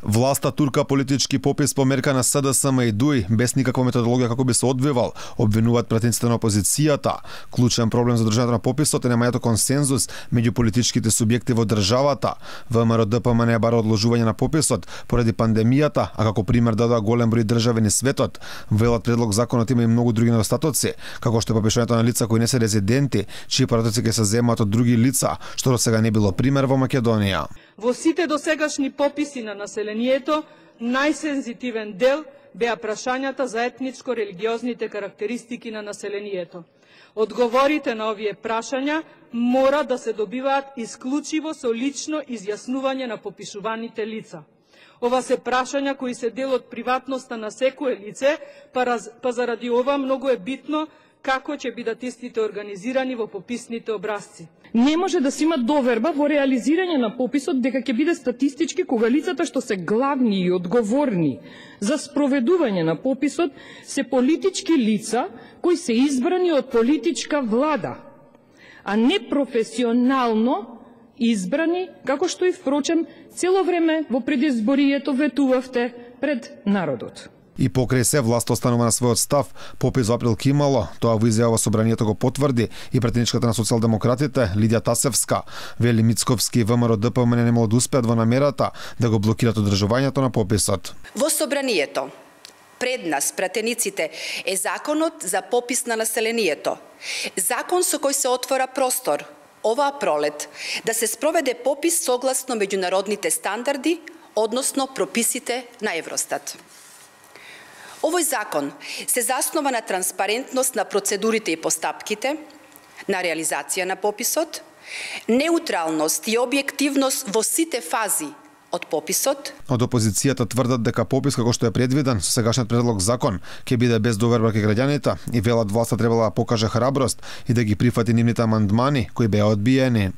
Власта турка политички попис по мерка на СДСМ и ДУИ без никаква методологија како би се одвивал, обвинуваат пратениците на опозицијата. Клучен проблем за држањето на пописот е немањето консензус меѓу политичките субјекти во државата. ВМРО ДПМН бара одложување на пописот поради пандемијата, а како пример дадоа голем број држави низ светот. Велат предлог законот има и многу други недостатоци, како што е попишувањето на лица кои не се резиденти, чии пратоци ќе се земаат од други лица, што до сега не било пример во Македонија. Во сите досегашни пописи на населението, најсензитивен дел беа прашањата за етничко-религиозните карактеристики на населението. Одговорите на овие прашања мора да се добиваат исклучиво со лично изјаснување на попишуваните лица. Ова се прашања кои се дел од приватноста на секое лице, па заради ова многу е битно како ќе бидат истите организирани во пописните образци. Не може да се има доверба во реализирање на пописот дека ќе биде статистички кога лицата што се главни и одговорни за спроведување на пописот се политички лица кои се избрани од политичка влада, а не професионално избрани, како што и впрочем цело време во предизборието ветувавте пред народот. И покрај се власта останува на својот став, попис во април ке имало, тоа во изјава во собранието го потврди и претеничката на социјалдемократите Лидија Тасевска. Вели Мицковски и ВМРО ДПМН не могат да успеат во намерата да го блокираат одржувањето на пописот. Во собранието пред нас, пратениците, е законот за попис на населението. Закон со кој се отвора простор оваа пролет да се спроведе попис согласно меѓународните стандарди, односно прописите на Евростат. Овој закон се заснова на транспарентност на процедурите и постапките, на реализација на пописот, неутралност и објективност во сите фази од пописот. Од опозицијата тврдат дека попис како што е предвиден со сегашниот предлог закон ќе биде без доверба кај граѓаните и велат власта требала да покаже храброст и да ги прифати нивните амандмани кои беа одбиени.